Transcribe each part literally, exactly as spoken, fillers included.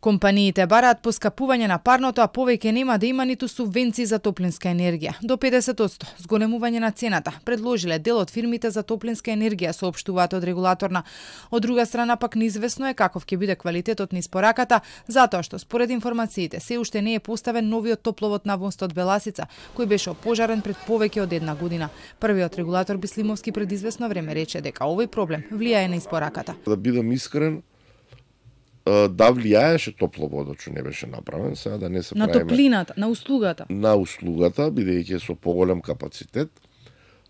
Компаниите бараат поскапување на парното, а повеќе нема да има ниту субвенции за топлинска енергија. До педесет одсто зголемување на цената предложиле дел од фирмите за топлинска енергија, соопштуваат од регулаторна. Од друга страна пак неизвестно е каков ќе биде квалитетот на испораката, затоа што според информациите се уште не е поставен новиот топловод на мостот Беласица, кој беше опожарен пред повеќе од една година. Првиот регулатор Бислимовски пред известно време рече дека овој проблем влијае на испораката. Да бидам искрен, да влијаеше топловодот што не беше направен, сега да не се на правиме топлината, на услугата. На услугата, бидејќи со поголем капацитет.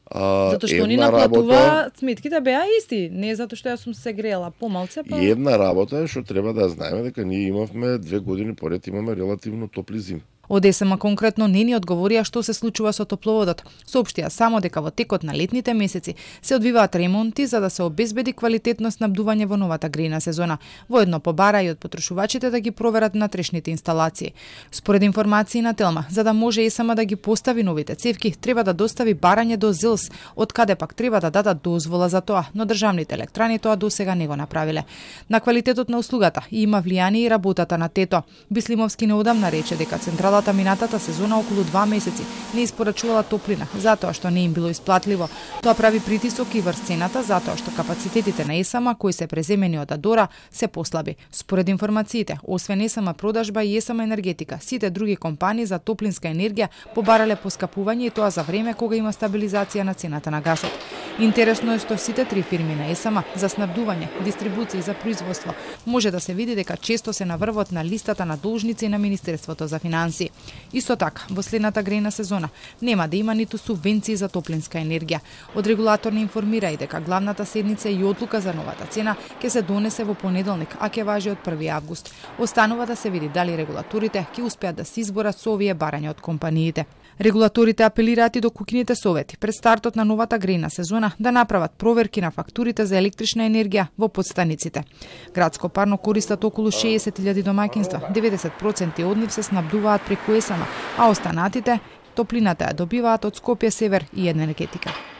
А, Затоа што они наплатуваат сметките беа исти, не затоа што јас сум се грела помалце, па. Една работа е што треба да знаеме дека ние имавме две години поред имаме релативно топли зими. Од ЕСМ конкретно не ни одговорија што се случува со топловодот. Соопштија само дека во текот на летните месеци се одвиваат ремонти за да се обезбеди квалитетно снабдување во новата грејна сезона. Воедно побара и од потрошувачите да ги проверат натрешните инсталации. Според информации на Телма, за да може ЕСМ да ги постави новите цевки, треба да достави барање до ЗИЛС, од каде пак треба да дадат дозвола за тоа, но државните електрани тоа досега не го направиле. На квалитетот на услугата има влијание и работата на ТЕТО. Бислимовски неодамна рече дека централата минатата сезона околу два месеци не испорачувала топлина, затоа што не им било исплатливо. Тоа прави притисок и врз цената, затоа што капацитетите на ЕСМ, кои се преземени од Адора, се послаби. Според информациите, освен ЕСМ продажба и ЕСМ енергетика, сите други компании за топлинска енергија побарале поскапување и тоа за време кога има стабилизација на цената на гасот. Интересно е што сите три фирми на ЕСМ за снабдување, дистрибуција и за производство може да се види дека често се на врвот на листата на должници на Министерството за финансии. Исто така, во следната грејна сезона нема да има ниту субвенции за топлинска енергија. Од регулатор не информира и дека главната седница и одлука за новата цена ќе се донесе во понеделник, а ќе важи од први август. Останува да се види дали регулаторите ќе успеат да се изборат со овие барања од компаниите. Регулаторите апелираат и до куќните совети пред стартот на новата грејна сезона да направат проверки на фактурите за електрична енергија во подстаниците. Градско парно користат околу шеесет илјади домаќинства, деветдесет проценти од нив се снабдуваат преку ЕСМ, а останатите топлината ја добиваат од Скопје Север и Енергетика.